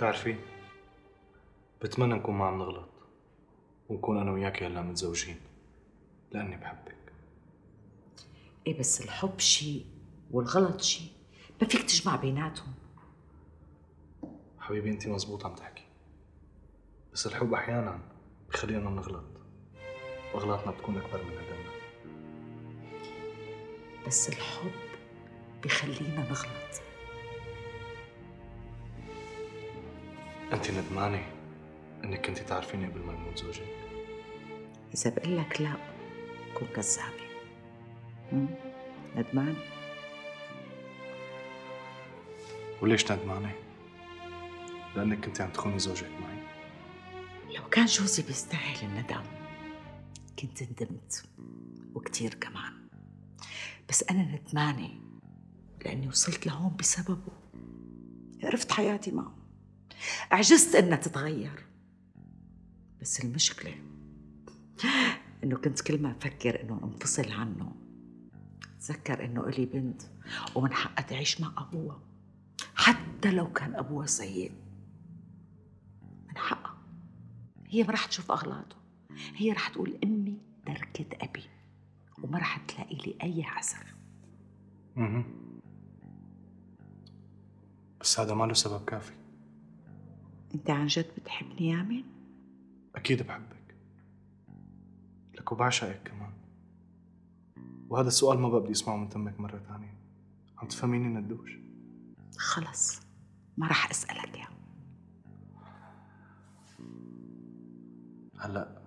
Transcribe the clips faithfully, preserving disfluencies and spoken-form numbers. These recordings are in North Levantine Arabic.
بتعرفي بتمنى نكون ما عم نغلط ونكون انا وياكي هلا متزوجين لاني بحبك. ايه بس الحب شيء والغلط شيء، ما فيك تجمع بيناتهم. حبيبي انت مزبوط عم تحكي، بس الحب احيانا بخلينا نغلط واغلاطنا بتكون اكبر من ندمنا. بس الحب بخلينا نغلط. انت ندمانه انك كنتي تعرفيني قبل ما نموت زوجك؟ اذا بقول لك لا كون كذابه. ندمانه. وليش ندمانه؟ لانك كنتي عم تخوني زوجك معي. لو كان جوزي بيستاهل الندم كنت ندمت وكتير كمان، بس أنا ندمانة لأني وصلت لهون بسببه. عرفت حياتي معه، عجزت إنها تتغير، بس المشكلة إنه كنت كل ما أفكر إنه انفصل عنه أتذكر إنه إلي بنت ومن حقها تعيش مع أبوها حتى لو كان أبوها سيء. من حقها، هي ما رح تشوف أغلاطه، هي رح تقول أمي تركت أبي وما رح تلاقي لي أي عذر. اها بس هذا ما له سبب كافي. أنت عن جد بتحبني يا أمين؟ أكيد بحبك، لك وبعشقك كمان، وهذا السؤال ما بقى بدي اسمعه من تمك مرة ثانية. عم تفهميني ندوش؟ خلص ما رح أسألك يا هلأ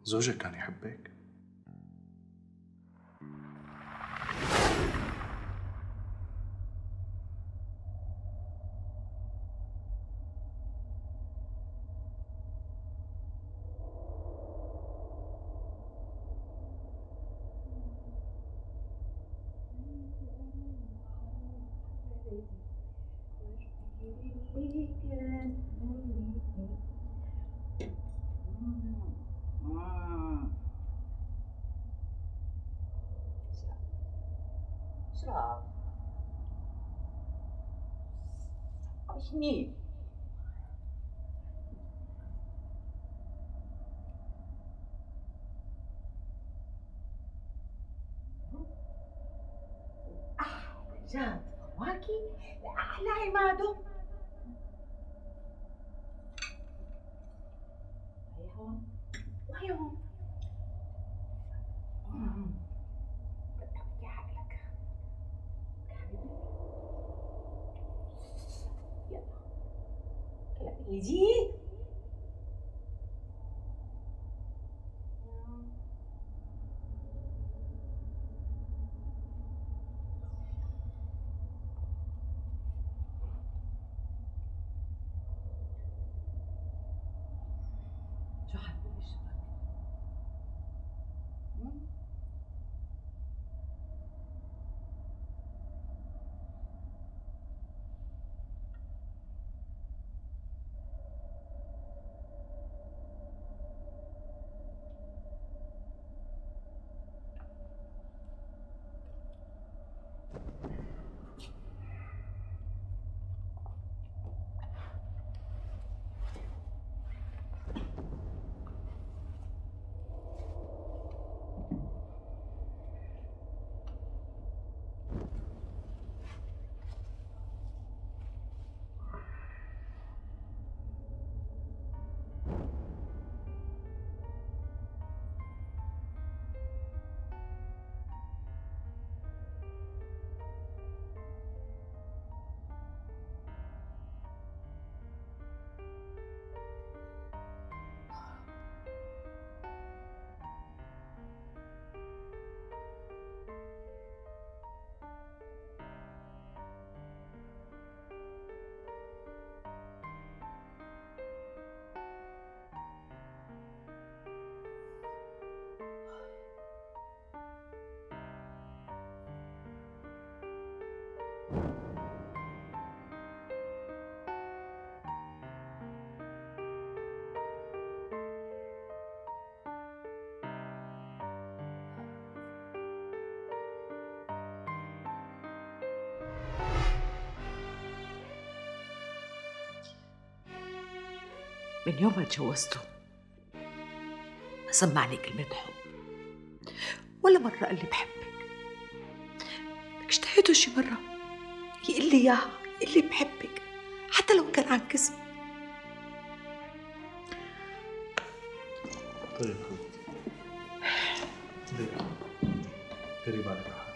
زوجك كان يحبك؟ شراب عشني. أحلى جاد فواكه لأحلى عماده. وهي هون وهي هون. يجي شو حبيبي الشباب؟ من يوم ما تجوزته ما سمعني كلمة حب، ولا مرة قال لي بحبك. بدك اجتهدوا شي مرة يقول لي إياها، يقول لي بحبك حتى لو كان عن كذب. طيب حبيبتي، ديري ديري بالك على حالك.